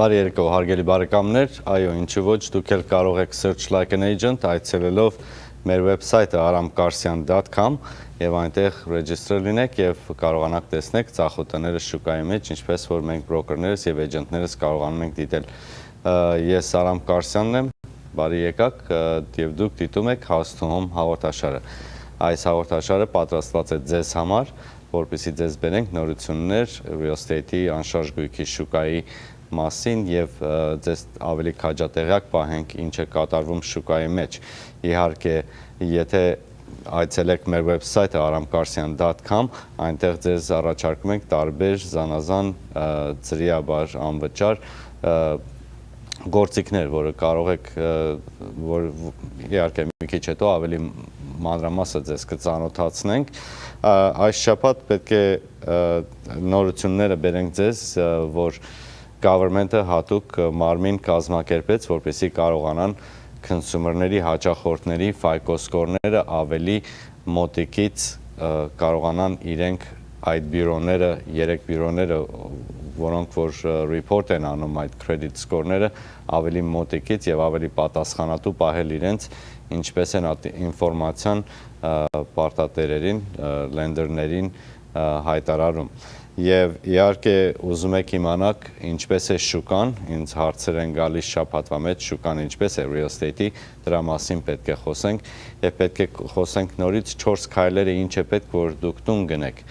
Բարի երկու հարգելի բարեկամներ, այո, ինչու ոչ, դուք էլ կարող եք search like an agent այցելելով մեր վեբսայթը aramkarsian.com եւ այնտեղ ռեջիստրել լինեք եւ կարողանաք տեսնել ծախոտները շուկայի մեջ, ինչպես որ մենք բրոկերներս եւ էջենտներս կարողանում ենք դիտել։ Ես Արամ Կարսյանն եմ, բարի եկաք եւ դուք դիտում եք House to Home հաղորդաշարը։ Այս հաղորդաշարը պատրաստված է ձեզ համար, որպեսզի ձեզ բերենք նորություններ real estate-ի անշարժ գույքի շուկայի մասին եւ ձեզ ավելի քաջատեղյակ պահենք ինչ է կատարվում շուկայի մեջ։ Իհարկե, եթե այցելեք մեր վեբսայթը aramkarsian.com, այնտեղ ձեզ առաջարկում ենք տարբեր զանազան ծրիաբար անվճար գործիքներ, որը կարող եք իհարկե մի քիչ հետո ավելի մանրամասը ձեզ կծանոթացնենք։ Այս շաբաթ պետք է նորությունները բերենք ձեզ, որ government-ը հատուկ մարմին կազմակերպեց, որպեսզի կարողանան consumer-ների հաճախորդների FICO score-ները ավելի մոտիկից կարողանան իրենք այդ բյուրոները, 3 բյուրոները, որոնք որ report են անում այդ credit score-ները, ավելի մոտիկից եւ ավելի պատասխանատու պահել իրենց, ինչպես են ինֆորմացիան պարտատերերին, lender-ներին հայտարարում։ Եվ իհարկե ուզում եք իմանաք ինչպես է շուկան, ինձ հարցեր են գալիս շաբաթվա մեջ, շուկան ինչպես է real estate-ի, դրա մասին պետք է խոսենք եւ պետք է խոսենք նորից 4 քայլերը ինչ է պետք որ դուք տուն գնեք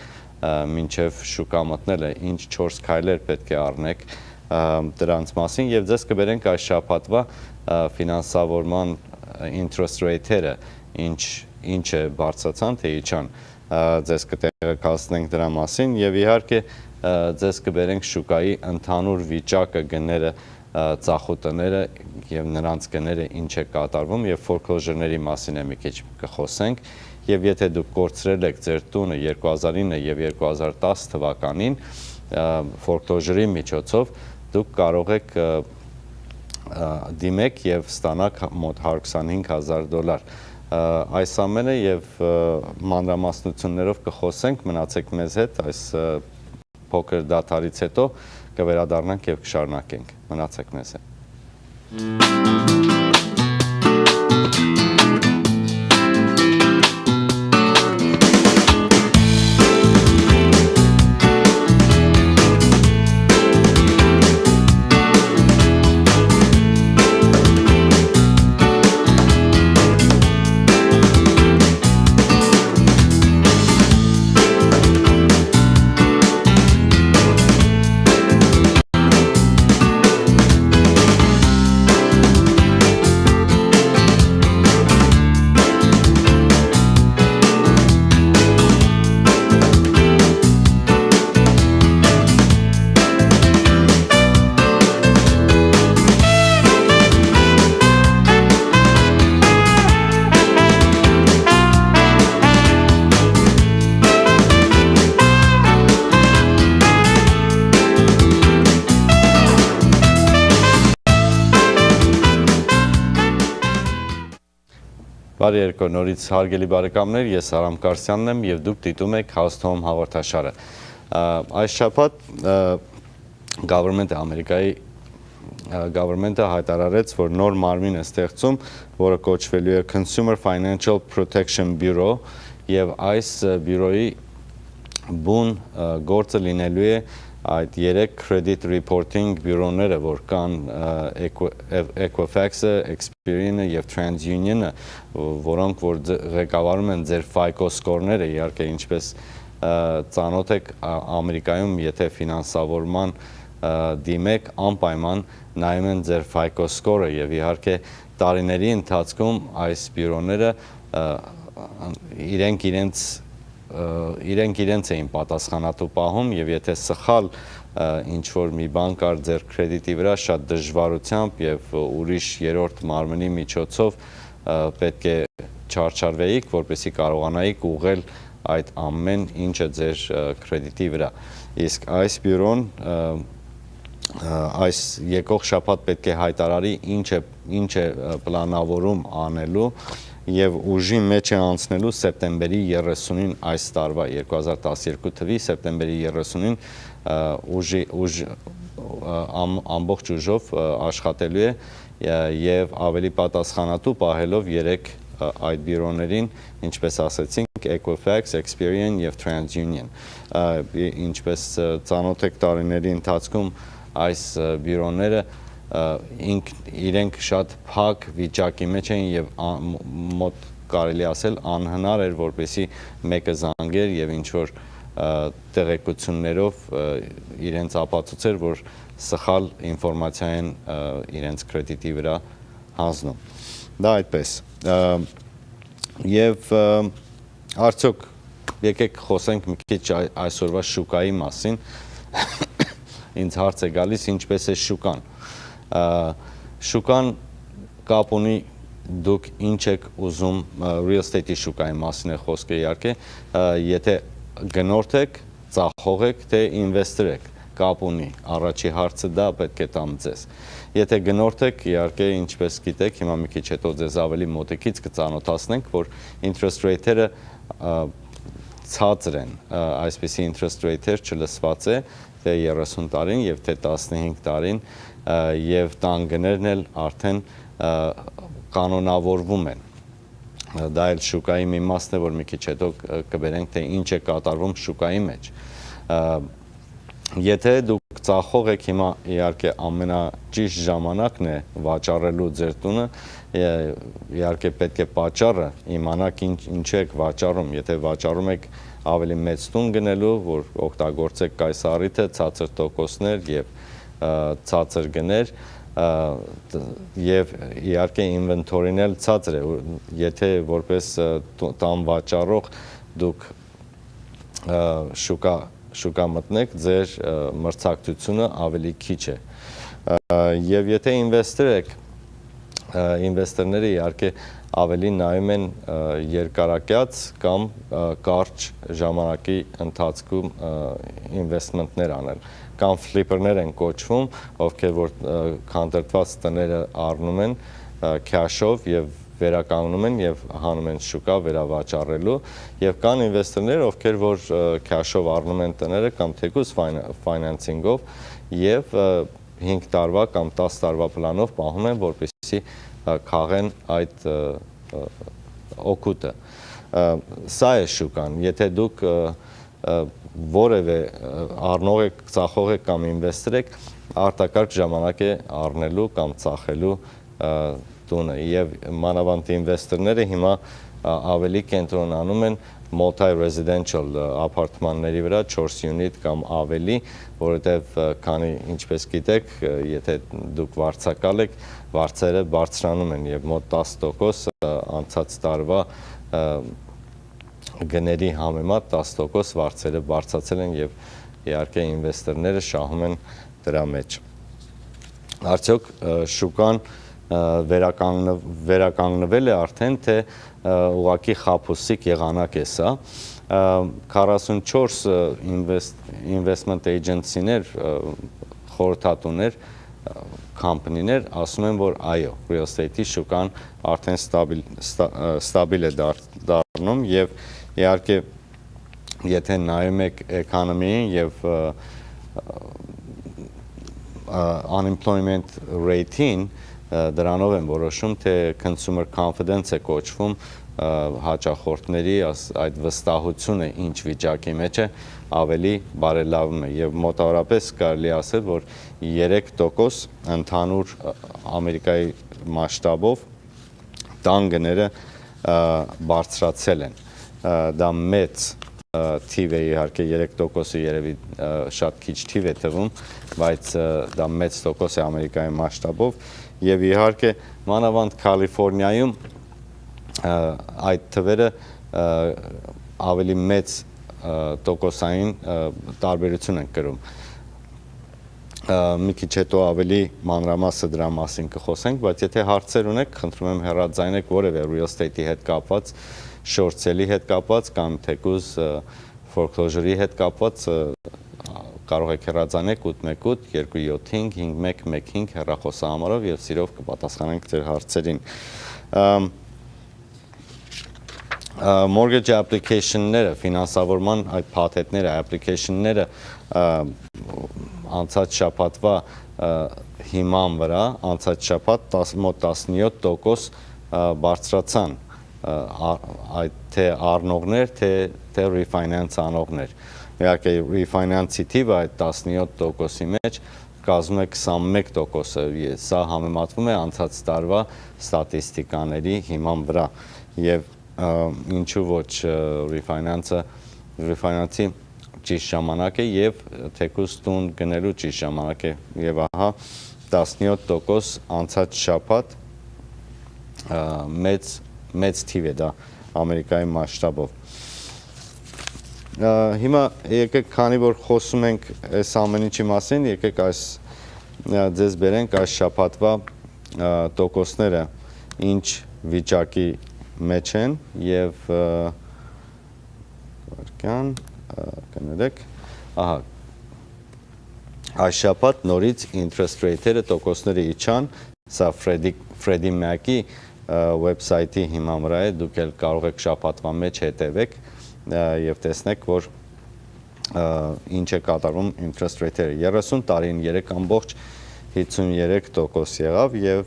մինչեւ շուկա մտնելը, ինչ 4 քայլեր պետք է առնեք դրանց մասին եւ ձեզ կբերենք այս շաբաթվա ֆինանսավորման interest rate-երը, ինչ է բարձրացան թե իջան, ձեզ կտեղեկացնենք դրա մասին եւ իհարկե ձեզ կբերենք շուկայի ընդհանուր վիճակը, գները, ծախոտները եւ նրանց գները ինչ է կատարվում եւ foreclosure-ների մասին է մի քիչ կխոսենք եւ եթե դուք կորցրել եք ձեր տունը 2009 եւ 2010 թվականին foreclosure-ի միջոցով դուք կարող եք դիմեք եւ ստանաք մոտ $125,000 այս ամենը եւ մանրամասնություններով կխոսենք, մնացեք մեզ հետ, այս փոքր դադարից հետո կվերադառնանք եւ կշարունակենք, մնացեք մեզ հետ։ Բարի երկու նորից հարգելի բարեկամներ, ես Արամ Կարսյանն եմ եւ դուք դիտում եք House to Home հաղորդաշարը։ Այս շաբաթ Ամերիկայի government-ը հայտարարեց, որ նոր մարմին է ստեղծում, որը կոչվելու է Consumer Financial Protection Bureau եւ այս բյուրոյի բուն գործը լինելու է այդ 3 credit reporting բյուրոները, որ կան Equifax-ը, Experian-ը եւ TransUnion-ը, որոնք որ ղեկավարում են ձեր FICO score-ները, իհարկե ինչպես ծանոթ եք Ամերիկայում, եթե ֆինանսավորման դիմեք, անպայման նայում են ձեր FICO score-ը եւ իհարկե տարիների ընթացքում այս բյուրոները իրենք իրենց էին պատասխանատու պահում եւ եթե սխալ ինչ-որ մի բան կար ձեր կրեդիտի վրա շատ դժվարությամբ եւ ուրիշ երրորդ մարմնի միջոցով պետք է չարչարվեիք, որպեսզի կարողանայիք ուղղել այդ ամեն ինչը ձեր կրեդիտի վրա։ Իսկ այս բյուրոն այս եկող շաբաթ պետք է հայտարարի ինչ է պլանավորում անելու եւ ուժի մեջ է անցնելու սեպտեմբերի 30-ին այս տարվա 2012 թվականի սեպտեմբերի 30-ին ամբողջ ուժով աշխատելու է եւ ավելի պատասխանատու պահելով 3 այդ բյուրոներին, ինչպես ասեցինք, Equifax, Experian եւ TransUnion։ Ինչպես ծանոթ եք տարիների ընթացքում այս բյուրոները իրենք շատ փակ վիճակի մեջ են եւ մոտ կարելի ասել անհնար էր, որպեսզի մեկը զանգեր եւ ինչ որ տեղեկություններով իրենց ապացուցեր, որ սխալ ինֆորմացիա են իրենց կրեդիտի վրա հանձնում։ Դա այդպես։ Եվ արդյոք եկեք խոսենք մի քիչ այսօրվա շուկայի մասին։ Ինձ հարց է գալիս, ինչպես է շուկան։ Շուկան կապ ունի դուք ինչ եք ուզում, real estate-ի շուկայի մասին է խոսքը իհարկե, եթե գնորդ եք, ծախող եք, թե ինվեստոր եք, կապ ունի, առաջի հարցը դա պետք է տամ ձեզ։ Եթե գնորդ եք, իհարկե, ինչպես գիտեք, հիմա մի քիչ հետո ձեզ ավելի մոտիկից կծանոթացնենք, որ interest rate-երը ցածր են, այսպիսի interest rate-եր չլսված է, թե 30 տարին եւ թե 15 տարին, եւ տան գներն էլ արդեն կանոնավորվում են։ Դա էլ շուկայի մի մասն է, որ մի քիչ հետո կբերենք, թե ինչ է կատարվում շուկայի մեջ։ Եթե դուք ծախող եք, հիմա իհարկե ամենաճիշտ ժամանակն է վաճառելու ձեր տունը, իհարկե պետք է պատճառը իմանաք ինչ եք վաճառում, եթե վաճառում եք ավելի մեծ տուն գնելու, որ օգտագործեք այս առիթը, ցածր տոկոսներ եւ ցածր գներ, եւ իհարկե ինվենտորին էլ ցածր է, եթե որպես տան վաճառող դուք շուկա մտնեք, ձեր մրցակցությունը ավելի քիչ է։ Եվ եթե ինվեստոր եք, ինվեստորները իհարկե ավելի նայում են երկարակյաց կամ կարճ ժամանակի ընթացքում ինվեստմենտներ անել, կամ ֆլիպերներ են կոչվում, ովքեր որ քանդրտված տները առնում են քաշով եւ վերականգնում են եւ հանում են շուկա վերավաճառելու, եւ կան ինվեստորներ, ովքեր որ քաշով առնում են տները կամ թեկուզ ֆայնանսինգով եւ 5 տարվա կամ 10 տարվա պլանով պահում են, որպեսզի քաղեն այդ օգուտը։ Սա է շուկան։ Եթե դուք որևէ առնող եք, ծախող եք կամ ինվեստոր եք, արտակարգ ժամանակ է առնելու կամ ծախելու տունը եւ մանավանդ ինվեստորները հիմա ավելի կենտրոնանում են multi-residential ապարտմանների վրա 4 unit կամ ավելի, որովհետեւ քանի ինչպես գիտեք, եթե դուք վարձակալ եք, վարձերը բարձրանում են եւ մոտ 10% անցած տարվա գների համեմատ 10% վարձերը բարձրացել են եւ իհարկե ինվեստորները շահում են դրա մեջ։ Արդյոք շուկան վերականգնվել է արդեն, թե ուղղակի խաբուսիկ եղանակ է սա։ 44 investment agency-ներ, խորհրդատուներ, կամպանիներ ասում են, որ այո, real estate-ի շուկան արդեն ստաբիլ է դառնում եւ իհարկե եթե նայում եք էկոնոմիային եւ unemployment rate-ին, դրանով են որոշում, թե consumer confidence է կոչվում հաճախորդների այդ վստահությունը ինչ վիճակի մեջ է ավելի բարելավում է եւ մոտավորապես կարելի ասել, որ 3% ընդհանուր Ամերիկայի մասշտաբով տան գները բարձրացել են։ Դա մեծ թիվ է իհարկե 3%-ը երևի շատ քիչ թիվ է թվում, բայց դա մեծ տոկոս է Ամերիկայի մասշտաբով եւ իհարկե մանավանդ Կալիֆոռնիայում այդ թվերը ավելի մեծ տոկոսային տարբերություն են կրում։ Մի քիչ հետո ավելի մանրամասը դրա մասին կխոսենք, բայց եթե հարցեր ունեք, խնդրում եմ հեռարձայնեք որևէ real estate-ի հետ կապված, short sale-ի հետ կապված կամ թեկուզ foreclosure-ի հետ կապված կարող եք հեռարձանել 818-275-5115 հեռախոսահամարով եւ սիրով կպատասխանենք ձեր հարցերին։ Mortgage application-ները, ֆինանսավորման այդ փաթեթները, application-ները անցած շաբաթվա հիման վրա, անցած շաբաթ մոտ 17% բարձրացան թե առնողներ, թե refinance անողներ։ Իհարկե refinance-ի թիվը այդ 17%-ի մեջ կազմում է 21%-ը, սա համեմատվում է անցած տարվա ստատիստիկաների հիման վրա, և ինչու ոչ refinance-ի ճիշտ ժամանակ է և թեկուզ տուն գնելու ճիշտ ժամանակ է, և ահա 17% անցած շաբաթ մեծ թիվ է դա Ամերիկայի մասշտաբով։ Հիմա եկեք, քանի որ խոսում ենք այս ամեն ինչի մասին, եկեք ձեզ բերենք այս շաբաթվա տոկոսները ինչ վիճակի մեջ են և կներեք, այս շաբաթ նորից interest rate-երը տոկոսները իջան, սա Freddie Mac-ի website-ի հիման վրա է, դուք էլ կարող եք շաբաթվա մեջ հետևեք և տեսնեք, որ ինչ է կատարում interest rate-երը։ 30 տարին 3.53% եղավ և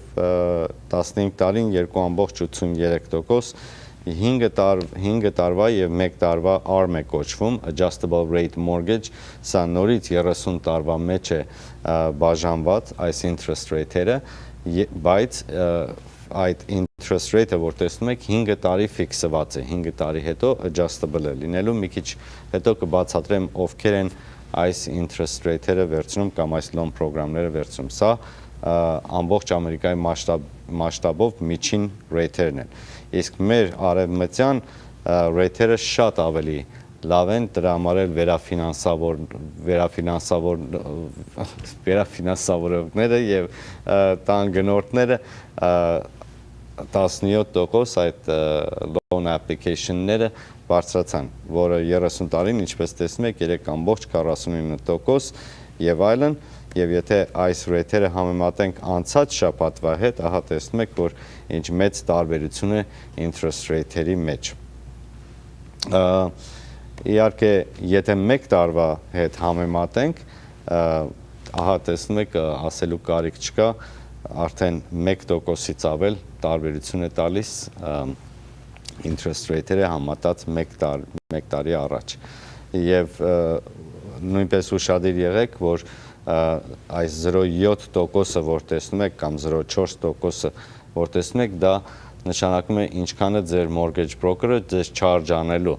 15 տարին 2.83%, 5 տարվա և 1 տարվա ARM է կոչվում, Adjustable Rate Mortgage, սա նորից 30 տարվա մեջ է բաժանված այս interest rate-երը, բայց այդ interest rate-ը, որ տեսնում եք, 5 տարի ֆիքսված է, 5 տարի հետո adjustable է լինելու, մի քիչ հետո կբացատրեմ ովքեր են այս interest rate-երը վերցնում կամ այս loan պրոգրամները վերցնում։ Սա ամբողջ Ամերիկայի մասշտաբով միջին rate-երն են։ Իսկ մեր արևմտյան rate-երը շատ ավելի լավ են, դրա համար էլ վերաֆինանսավորողները և տան գնորդները 17% այդ loan application-ները բարձրացան, որը 30 տարին, ինչպես տեսնում եք, 3.49% և այլն, և եթե այս rate-երը համեմատենք անցած շաբաթվա հետ, ահա տեսնում եք, որ ինչ մեծ տարբերություն է interest rate-երի մեջ։ Իհարկե, եթե մեկ տարվա հետ համեմատենք, ահա տեսնում եք, ասելու կարիք չկա, արդեն 1%-ից ավել տարբերություն է տալիս interest rate-երը համատած մեկ տարի առաջ։ Եվ նույնպես ուշադիր եղեք, որ այս 0.7%-ը, որ տեսնում եք, կամ 0.4%-ը, որ տեսնում եք, դա նշանակում է ինչքան է ձեր mortgage broker-ը ձեզ charge անելու։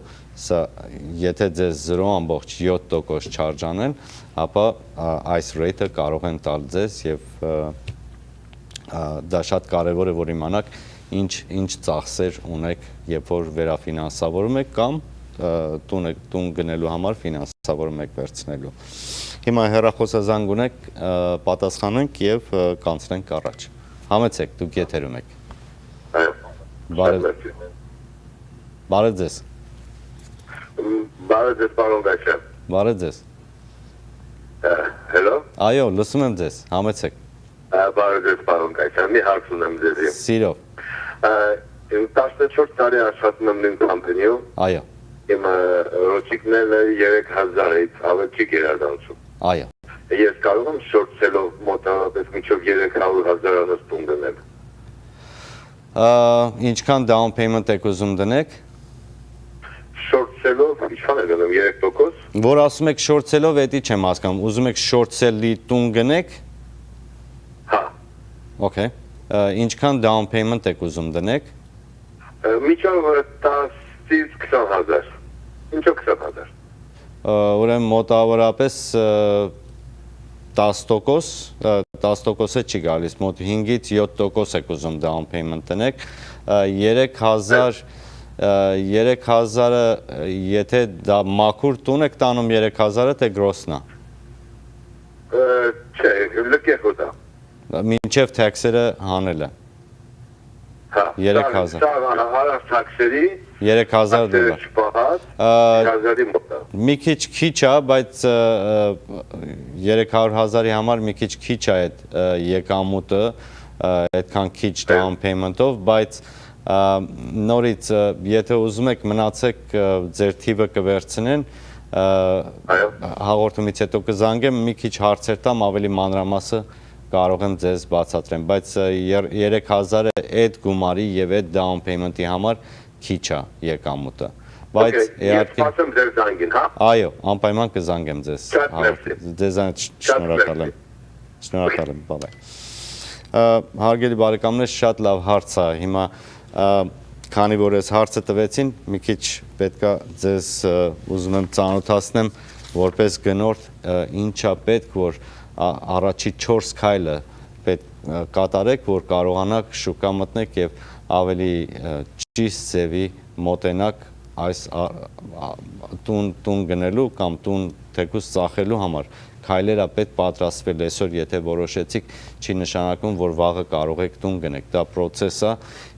Եթե ձեզ 0.7% charge անեն, ապա այս rate-ը կարող են տալ ձեզ և դա շատ կարևոր է, որ իմանաք ինչ ծախսեր ունեք, երբ որ վերաֆինանսավորում եք կամ տուն գնելու համար ֆինանսավորում եք վերցնելու։ Հիմա հեռախոսազանգ ունեք, պատասխանենք և կանցնենք առաջ։ Համեցեք, դուք եթերում եք։ Բարև ձեզ։ Բարև ձեզ, պարոն Գայչյան։ Բարև ձեզ։ Հելո։ Այո, լսում եմ ձեզ, համեցեք։ Բարև ձեզ, պարոն Գայչյան, մի հարց ունեմ ձեզի։ Սիրով։ 14 տարի աշխատում եմ նույն կամպանիում։ Այո։ Իմ ռոճիկները 3000-ից ավել չի գերազանցում։ Այո։ Ես կարող եմ շորտսելով մոտավորապես մինչև 300,000 տուն դնել։ Ինչքան down payment եք ուզում դնեք։ Շորտսելով ինչքան է գնում 3%։ Որ ասում եք շորտսելով, էդի չեմ հասկանում, ուզում եք շորտսելի տուն գնեք։ Հա։ Okay։ Ինչքան down payment եք ուզում դնեք։ Միջով 10-ից 20,000։ Ինչո՞ւ 20,000։ Ուրեմն մոտավորապես 10%-ը չի գալիս, մոտ 5-ից 7% եք ուզում down payment տնեք, 3,000-ը, եթե դա մաքուր տուն եք տանում 3,000-ը, թե գրոսնա։ Չէ, լկեղ ուտա։ Մինչև թաքսերը հանելը։ 3,000։ Սա հարավ թաքսերի 3,000 դոլար։ Մի քիչ է, բայց 300,000-ի համար մի քիչ է այդ եկամուտը, այդքան քիչ down payment-ով, բայց նորից, եթե ուզում եք մնացեք ձեր թիվը կվերցնեն, հաղորդումից հետո կզանգեմ, մի քիչ հարցեր տամ, ավելի մանրամասը կարող եմ ձեզ բացատրեմ, բայց 3000-ը այդ գումարի եւ այդ down payment-ի համար քիչ է եկամուտը։ Բայց իհարկե սպասեմ ձեր զանգին, հա։ Այո, անպայման կզանգեմ ձեզ։ Ձեզ շնորհակալ եմ։ Շնորհակալ եմ, բավայ։ Հարգելի բարեկամներ, շատ լավ հարց է։ Հիմա քանի որ այս հարցը տվեցին, մի քիչ պետքա ձեզ ուզում եմ ծանոթացնեմ որպես գնորդ ինչա պետք որ առաջի 4 քայլը պետք կատարեք, որ կարողանաք շուկա մտնեք եւ ավելի ճիշտ ձևի մոտենաք այս տուն գնելու կամ տուն թեկուզ ծախելու համար քայլերը պետք պատրաստվել այսօր, եթե որոշեցիք, չի նշանակում, որ վաղը կարող եք տուն գնեք։ Դա process է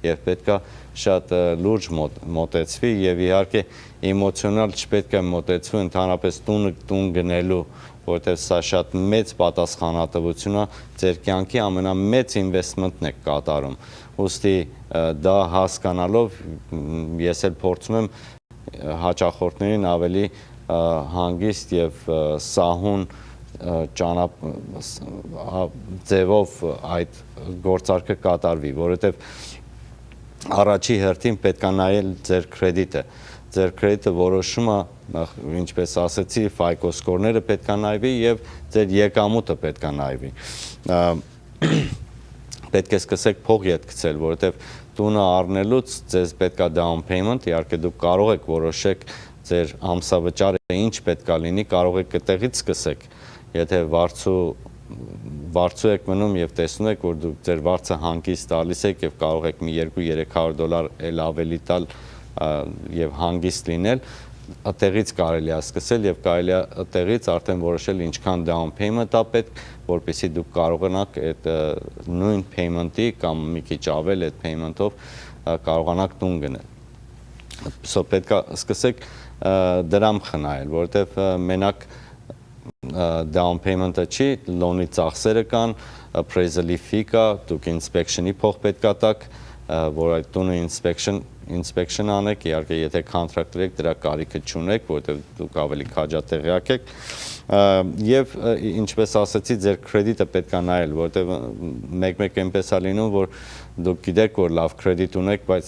եւ պետքա շատ լուրջ մոտեցվի եւ իհարկե էմոցիոնալ չպետք է մոտեցվի ընդհանրապես տուն գնելու, որովհետեւ սա շատ մեծ պատասխանատվություն է, ձեր կյանքի ամենամեծ ինվեստմենտն եք կատարում։ Ուստի դա հասկանալով ես էլ փորձում եմ հաճախորդներին ավելի հանգիստ եւ սահուն ձևով այդ գործարքը կատարվի, որովհետև առաջի հերթին պետք է նայել ձեր կրեդիտը։ Ձեր կրեդիտը որոշումը, ինչպես ասացի, FICO սկորները պետք է նայվի եւ ձեր եկամուտը պետք է նայվի։ Պետք է սկսեք փող ետ գցել, որովհետև տունը առնելուց ձեզ պետք է down payment, իհարկե դուք կարող եք որոշեք ձեր ամսավճարը ինչ պետք է լինի, կարող եք այդտեղից սկսեք։ Եթե վարձու եք մնում եւ տեսնում եք, որ դուք ձեր վարձը հանգիստ տալիս եք եւ կարող եք մի $200-300 էլ ավելի տալ եւ հանգիստ լինել, այդտեղից կարելի է սկսել եւ կարելի է այդտեղից արդեն որոշել ինչքան down payment-ա պետք, որպեսզի դուք կարողանաք այդ նույն payment-ի կամ մի քիչ ավել այդ payment-ով կարողանաք տուն գնել։ Սա պետք է սկսեք դրամ խնայել, որովհետեւ մենակ down payment-ը չի, loan-ի ծախսերը կան, appraisal-ի fee կա, դուք inspection-ի փող պետք է տաք, որ այդ տունը inspection անեք, իհարկե եթե contractor եք, դրա կարիքը չունեք, որովհետև դուք ավելի քաջատեղյակ եք, եւ ինչպես ասացի, ձեր կրեդիտը պետք է նայել, որովհետև մեկ-մեկ այնպես է լինում, որ դուք գիտեք, որ լավ կրեդիտ ունեք, բայց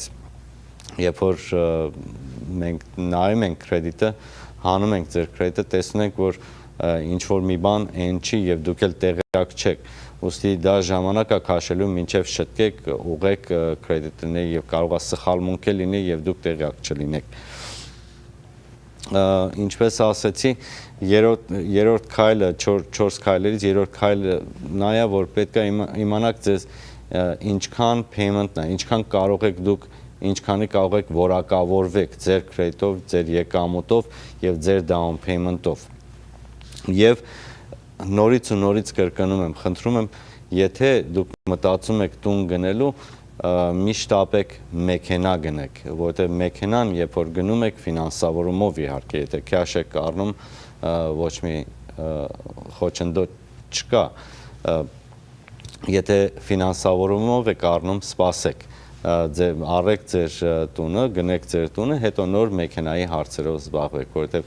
երբ որ մենք նայում ենք կրեդիտը, հանում ենք ձեր կրեդիտը, տեսնում ենք, որ ինչ որ մի բան այն չի եւ դուք էլ տեղյակ չեք, ուստի դա ժամանակ է քաշելու մինչեւ շտկեք, ուղեք կրեդիտները եւ կարող է սխալմունք լինի եւ դուք տեղյակ չլինեք։ Ինչպես ասացի, երրորդ քայլը 4 քայլերից երրորդ քայլը նա է, որ պետք է իմանաք ձեզ ինչքան payment-ն է, ինչքան կարող եք դուք ինչքանի կարող եք որակավորվեք ձեր կրեդիտով, ձեր եկամուտով եւ ձեր down payment-ով։ Եվ նորից ու նորից կրկնում եմ, խնդրում եմ, եթե դուք մտածում եք տուն գնելու, միշտ ապեք մեքենա գնեք, որովհետև մեքենան, երբ որ գնում եք ֆինանսավորումով իհարկե, եթե քաշ եք առնում, ոչ մի խոչընդոտ չկա, եթե ֆինանսավորումով եք առնում, սպասեք, առեք ձեր տունը, գնեք ձեր տունը, հետո նոր մեքենայի հարցերով զբաղվեք, որովհետև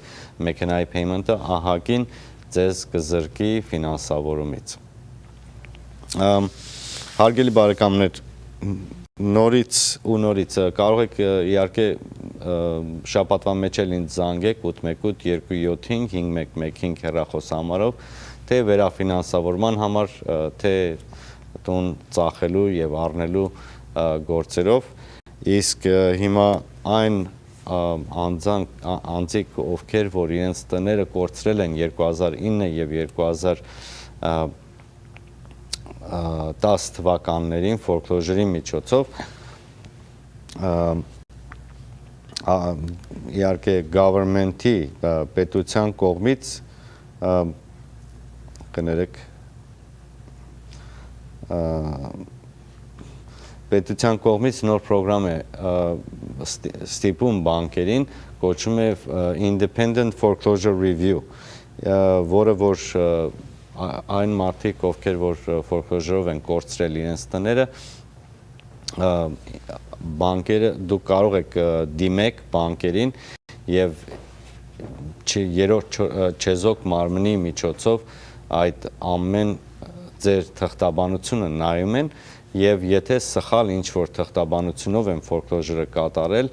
մեքենայի payment-ը ահագին ձեզ կզրկի ֆինանսավորումից։ Հարգելի բարեկամներ, նորից ու նորից կարող եք իհարկե շաբաթվա մեջ էլ ինձ զանգեք 818-275-5115 հեռախոսահամարով, թե վերաֆինանսավորման համար, թե տուն ծախելու եւ առնելու գործերով, իսկ հիմա այն անձիկ, ովքեր, որ իրենց տները կորցրել են 2009 եւ 2010 թվականներին foreclosure-ի միջոցով, իհարկե government-ի պետության կողմից կներեք պետության կողմից նոր պրոգրամ է ստիպում բանկերին, կոչվում է Independent Foreclosure Review, որը որ այն մարդիկ, ովքեր որ foreclosure-ով են կորցրել իրենց տները, բանկերը դուք կարող եք դիմեք բանկերին եւ երրորդ չեզոք մարմնի միջոցով այդ ամեն ձեր թղթաբանությունը նայում են եւ եթե սխալ ինչ որ թղթաբանությունով են foreclosure-ը կատարել,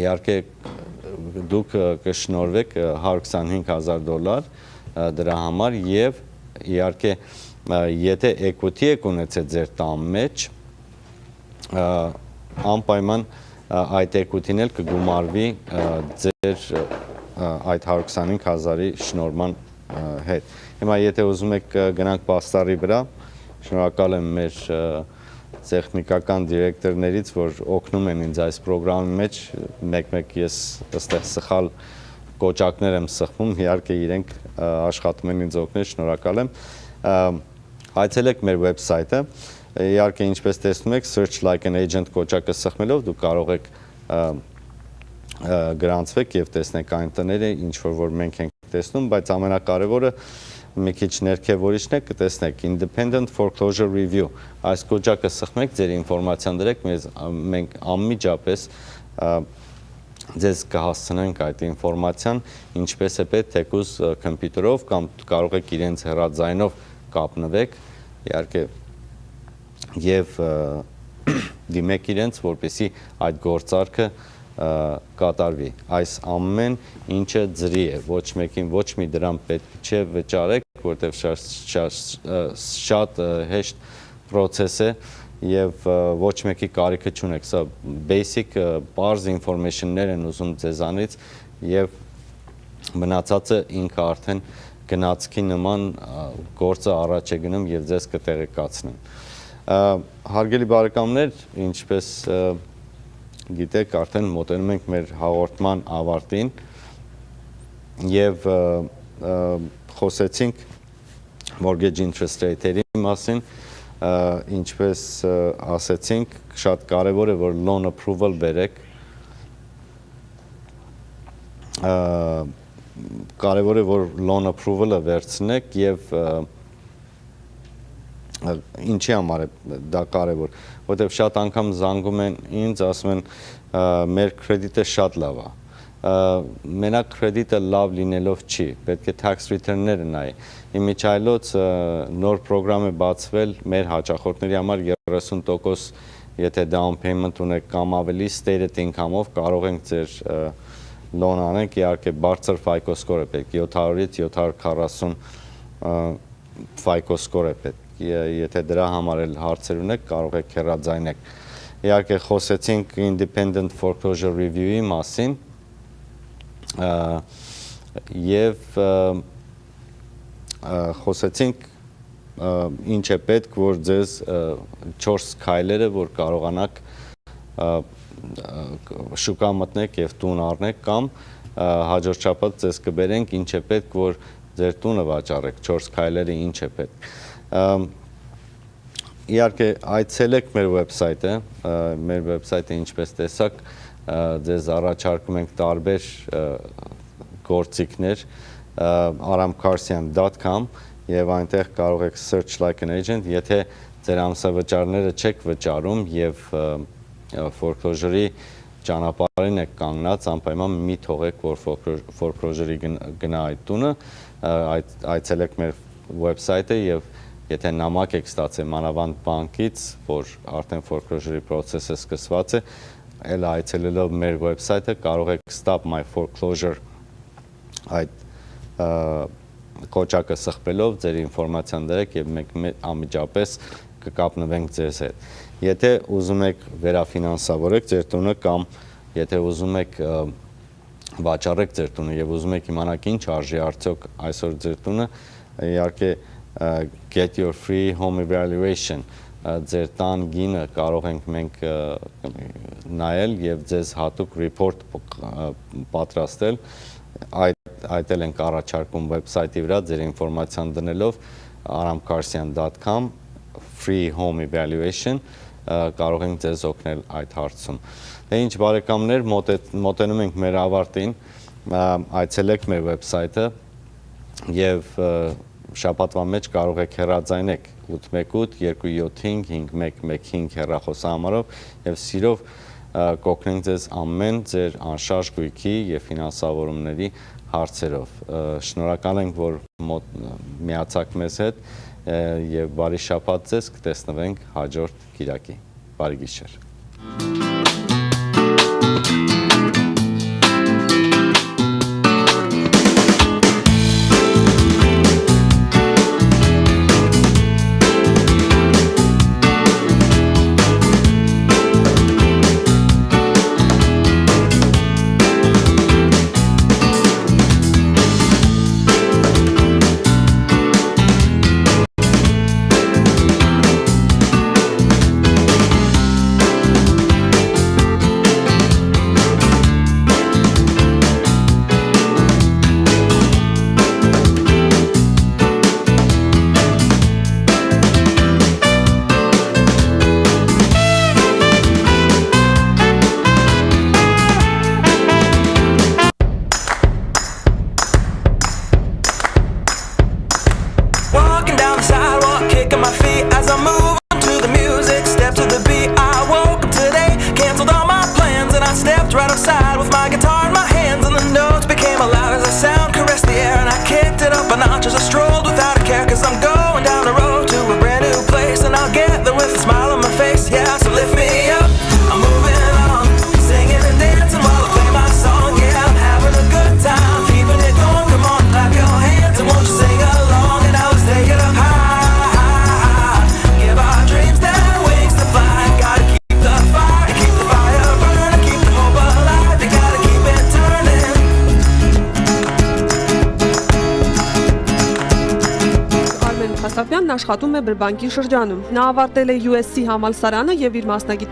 իհարկե դուք կշնորհվեք $125,000 դրա համար եւ իհարկե եթե equity եք ունեցել ձեր տան մեջ, անպայման այդ equity-ն էլ կգումարվի ձեր այդ 125,000-ի շնորհման հետ։ Հիմա եթե ուզում եք գնանք պաստառի վրա, շնորհակալ եմ մեր տեխնիկական դիրեկտորներից, որ օգնում են ինձ այս ծրագրամի մեջ, մեկ-մեկ ես այստեղ սխալ կոճակներ եմ սխմում, իհարկե իրենք աշխատում են ինձ օգնել, շնորհակալ եմ։ Այցելեք մեր վեբսայթը, իհարկե ինչպես տեսնում եք, search like an agent կոճակը սխմելով դուք կարող եք գրանցվեք եւ տեսնեք այն տները, ինչ որ մենք ենք տեսնում, բայց ամենակարևորը մի քիչ ներքևորիչն է, կտեսնեք Independent Foreclosure Review։ Այս կոճակը սխմեք, ձեր ինֆորմացիան դրեք, մենք անմիջապես ձեզ կհասցնենք այդ ինֆորմացիան, ինչպես է պետք, թեկուզ կոմպյուտերով կամ կարող եք իրենց հեռարձայինով կապնվեք, իհարկե եւ դիմեք իրենց, որպեսզի այդ գործարքը կատարվի։ Այս ամեն ինչը ձրի է, ոչ մեկին ոչ մի դրամ պետք չէ վճարեք, որտեղ շատ հեշտ process է եւ ոչ մեկի կարիքը չունեք։ Սա basic բարձ information-ներ են ուզում ձեզանից եւ մնացածը ինքը արդեն գնացքի նման գործը առաջ է գնում եւ ձեզ կտեղեկացնեն։ Հարգելի բարեկամներ, ինչպես գիտեք, արդեն մոտենում ենք մեր հաղորդման ավարտին եւ խոսեցինք mortgage interest rate-երի մասին, ինչպես ասեցինք, շատ կարեւոր է, որ loan approval բերեք, կարեւոր է, որ loan approval-ը վերցնեք եւ ինչի համար է դա կարևոր, որտեղ շատ անգամ զանգում են ինձ, ասում են մեր կրեդիտը շատ լավ է։ Մենակ կրեդիտը լավ լինելով չի, պետք է tax return-ները նայի։ Իմիջայլոց նոր ծրագրամ է բացվել մեր հաճախորդների համար 30%, եթե down payment ունեք կամ ավելի stated income-ով կարող ենք ձեր loan անենք, իհարկե բարձր FICO score է պետք, 700-ից 740 FICO score է պետք։ Եթե դրա համար էլ հարցեր ունեք, կարող եք հեռարձայինեք։ Իհարկե խոսեցինք Independent Foreclosure Review-ի մասին եւ խոսեցինք ինչ է պետք, որ ձեզ 4 քայլերը, որ կարողանաք շուկա մտնեք եւ տուն առնեք կամ հաջորդ շաբաթ ձեզ կբերենք ինչ է պետք, որ ձեր տունը վաճառեք, 4 քայլերը ինչ է պետք։ Իհարկե այցելեք մեր վեբսայթը ինչպես տեսակ ձեզ առաջարկում ենք տարբեր գործիքներ aramkarsian.com եւ այնտեղ կարող եք search like an agent, եթե ձեր ամսավճարները չեք վճարում եւ foreclosure-ի ճանապարհին եք կանգնած, անպայման մի թողեք, որ foreclosure-ի գնա այդ տունը, այցելեք մեր վեբսայթը եւ եթե նամակ եք ստացել մանավանդ բանկից, որ արդեն foreclosure-ի process-ը սկսված է, էլ այցելելով մեր վեբսայթը կարող եք stop my foreclosure այդ կոճակը սխպելով ձեր ինֆորմացիան դրեք եւ մենք անմիջապես կկապնվենք ձեզ հետ։ Եթե ուզում եք վերաֆինանսավորեք ձեր տունը կամ եթե ուզում եք վաճառեք ձեր տունը եւ ուզում եք իմանալ ինչ արժի արդյոք այսօր ձեր տունը, իհարկե get your free home evaluation ձեր տան գինը կարող ենք մենք նայել եւ ձեզ հատուկ report պատրաստել, այդ էլ ենք առաջարկում վեբսայթի վրա ձեր ինֆորմացիան դնելով aramkarsian.com free home evaluation կարող ենք ձեզ օգնել այդ հարցում։ Դե ինչ բարեկամներ, մոտենում ենք մեր ավարտին, այցելեք մեր վեբսայթը եւ շաբաթվա մեջ կարող եք հեռարձայինեք 818-275-5115 հեռախոսահամարով եւ սիրով կօգնենք ձեզ ամեն ձեր անշարժ գույքի և ֆինանսավորումների հարցերով։ Շնորհակալ ենք, որ միացաք մեզ հետ և բարի շաբաթ ձեզ, կտեսնվենք հաջորդ կիրակի։ Բարի գիշեր։ Աշխատում է բրբանկի շրջանում։ Նա ավարտել է USC համալսարանը և իր մասնագիտական